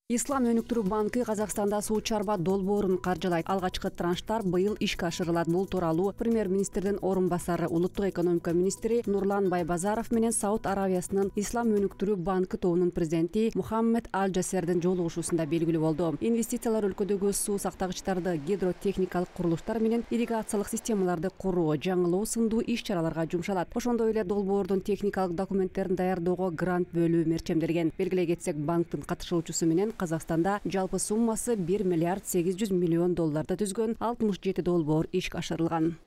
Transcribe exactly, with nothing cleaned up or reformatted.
Ислам өнүктүрүү банкы Казакстанда суу чарба долбоорун каржылайт. Алгачкы транштар быйыл ишке ашырылат. Бул тууралуу премьер-министрдин орун басары, улуттук экономика министри Нурлан Байбазаров менен Сауд Аравиясынын Ислам өнүктүрүү банкы тобунун президенти Мухаммед Аль Джасердин жолугушуусунда белгилүү болду. Инвестициялар өлкөдөгү суу сактагычтарды, гидротехникалык курулуштар менен ирригациялык системаларды куруу, жаңылоо сындуу иш-чараларга жумшалат. Ошондой эле долбоордун техникалык документтерин даярдоого грант бөлүү мерчемделген. Белгилей кетсек, банктын катышуучусу менен Казакстанда жалпы суммасы бир миллиард сегиз жүз миллион долларды түзгөн алтымыш жети долбоор ишке ашырылган.